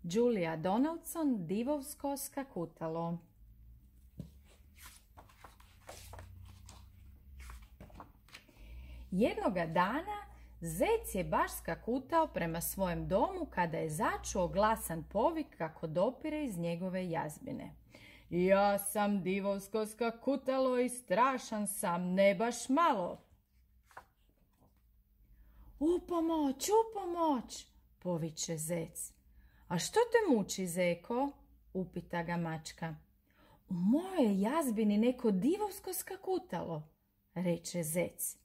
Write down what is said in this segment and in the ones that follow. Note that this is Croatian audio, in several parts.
Julia Donaldson, divovsko skakutalo. Jednoga dana zec je baš skakutao prema svojem domu kada je začuo glasan povik kako dopire iz njegove jazbine. Ja sam divovsko skakutalo i strašan sam, ne baš malo. Upomoć, upomoć, poviče zec. A što te muči, zeko? Upita ga mačka. U mojoj jazbini neko divovsko skakutalo, reče zec.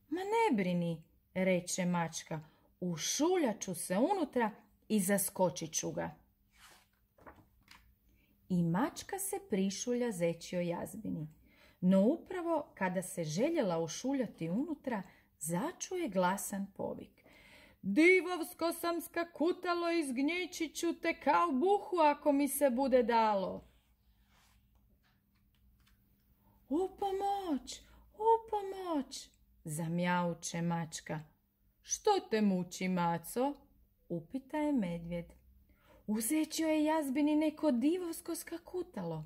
Ma ne brini, reče mačka, ušuljat ću se unutra i zaskočit ću ga. I mačka se prišulja zečjoj jazbini, no upravo kada se željela ušuljati unutra, začuje glasan povik. Divovsko sam skakutalo i zgnječit ću te kao buhu ako mi se bude dalo. Upomoć, upomoć, zamjauče mačka. Što te muči, maco? Upita je medvjed. U zečjoj je jazbini neko divovsko skakutalo,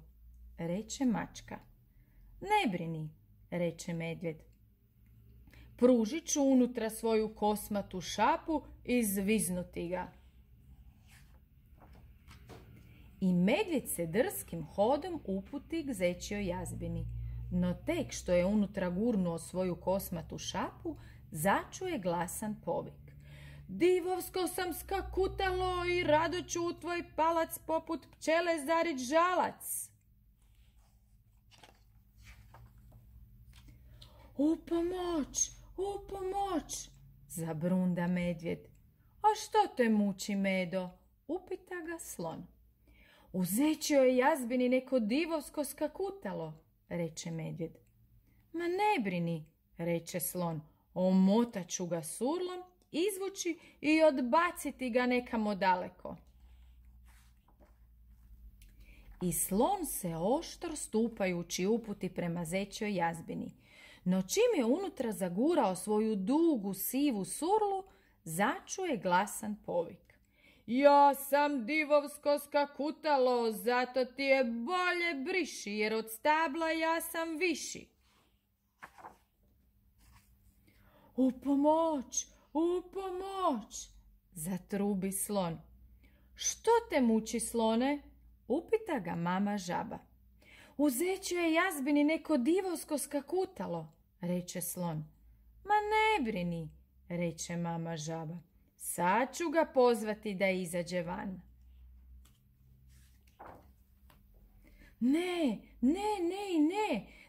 reče mačka. Ne brini, reče medvjed. Pružit ću unutra svoju kosmatu šapu i zviznuti ga. I medvjed se drskim hodom uputi k zečjoj jazbini, no tek što je unutra gurnuo svoju kosmatu šapu, začuje glasan povik. Divovsko sam skakutalo i rado ću u tvoj palac poput pčele zarit žalac. Upomoć, upomoć, zabrunda medvjed. A što te muči, Medo? Upita ga slon. U zečjoj jazbini neko divovsko skakutalo, reče medvjed. Ma ne brini, reče slon, omotat ću ga surlom, izvući i odbaciti ga nekamo daleko. I slon se oštro stupajući uputi prema zečjoj jazbini, no čim je unutra zagurao svoju dugu sivu surlu, začuje glasan povik. Ja sam divovsko skakutalo, zato ti je bolje briši, jer od stabla ja sam viši. Upomoć, upomoć, zatrubi slon. Što te muči, slone? Upita ga mama žaba. U zečjoj jazbini neko divovsko skakutalo, reče slon. Ma ne brini, reče mama žaba. Sad ću ga pozvati da izađe van. Ne,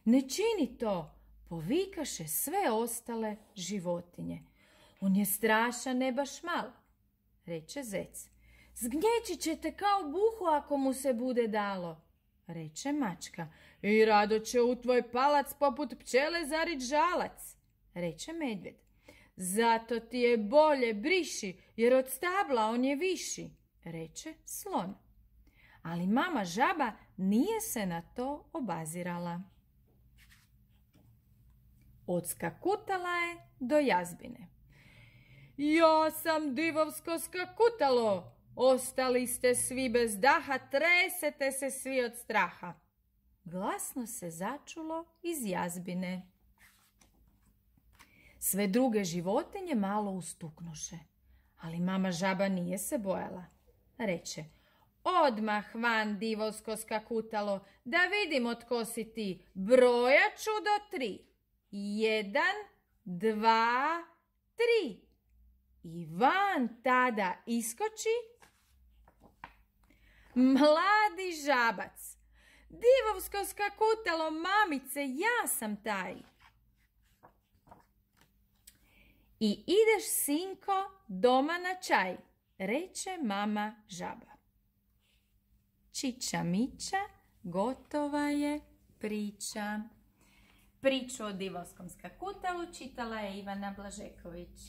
ne čini to, povikaše sve ostale životinje. On je strašan, ne baš malo, reče zec. Zgnječit će te kao buhu ako mu se bude dalo, reče mačka. I rado će u tvoj palac poput pčele zarit žalac, reče medvjed. Zato ti je bolje briši, jer od stabla on je viši, reče slon. Ali mama žaba nije se na to obazirala. Odskakutala je do jazbine. Ja sam divovsko skakutalo, ostali ste svi bez daha, tresete se svi od straha. Glasno se začulo iz jazbine. Sve druge životinje malo ustuknuše, ali mama žaba nije se bojala. Reče, odmah van divovsko skakutalo, da vidimo tko si ti, brojat ću do 3. 1, 2, 3. I van tada iskoči mladi žabac. Divovsko skakutalo, mamice, ja sam taj. I ideš, sinko, doma na čaj, reče mama žaba. Čiča miča, gotova je priča. Priču o divovskom skakutalu čitala je Ivana Blažeković.